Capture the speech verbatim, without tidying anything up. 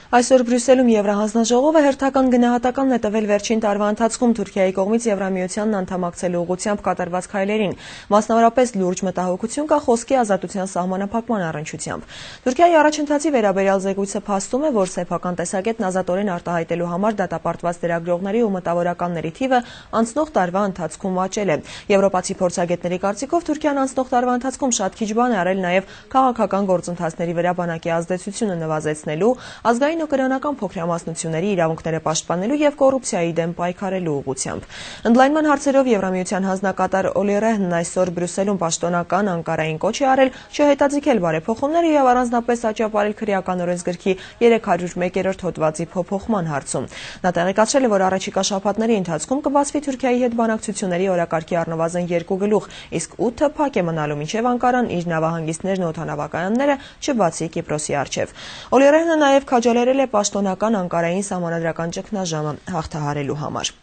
Այսօր Բրյուսելում Եվրահանձնաժողովը հերթական գնահատականն է տվել վերջին տարվա ընթացքում Թուրքիայի կողմից Եվրամիությանն անդամակցելու ուղղությամբ կատարված քայլերին, մասնավորապես լուրջ մտահոգություն կա խոսքի ազատության սահմանափակման առնչությամբ։ Թուրքիայի առաջընթացի վերաբերյալ զեկույցը փաստում է, որ սեփական տեսակետն ազատորեն արտահայտելու համար դատապարտված լրագրողների ու մտավորականների թիվը անցնող տարվա ընթացքում աճել է։ Եվրոպացի փորձագետների կարծիքով Թուրքիան անցնող տարվա ընթացքում շատ քիչ բան է արել նաև քաղաքական գործընթացների վրա բանակի ազդեցությունը նվազեցնելու, ազգային ու կրոնական փոքրամասնությունների իրավունքները պաշտպանելու եւ կոռուպցիայի դեմ պայքարելու ուղղությամբ։ Ընդլայնման հարցերով Եվրամիության հանձնակատար Օլի Ռեհնն այսօր Բրյուսելում պաշտոնական Անկարային կոչ է արել չհետաձգել բարեփոխումները եւ առանձնապես աճապարել քրեական օրենսգրքի երեք հարյուր մեկերորդ հոդվածի փոփոխման հարցում։ Նա տեղեկացրել է, որ առաջիկա շաբաթների ընթացքում կբացվի Թուրքիայի հետ բանակցությունների օրակարգի առնվազն երկու գլուխ, իսկ ութը փակ է մնալու, մինչեւ Անկարան իր նավահանգիստներն ու օդանավակայանները չբացի Կիպրոսի առջև։ Օլի Ռեհնը նաեւ քաջալերել է պաշտոնական Անկարային սահմանադրական ճգնաժամը հաղթահարելու համար։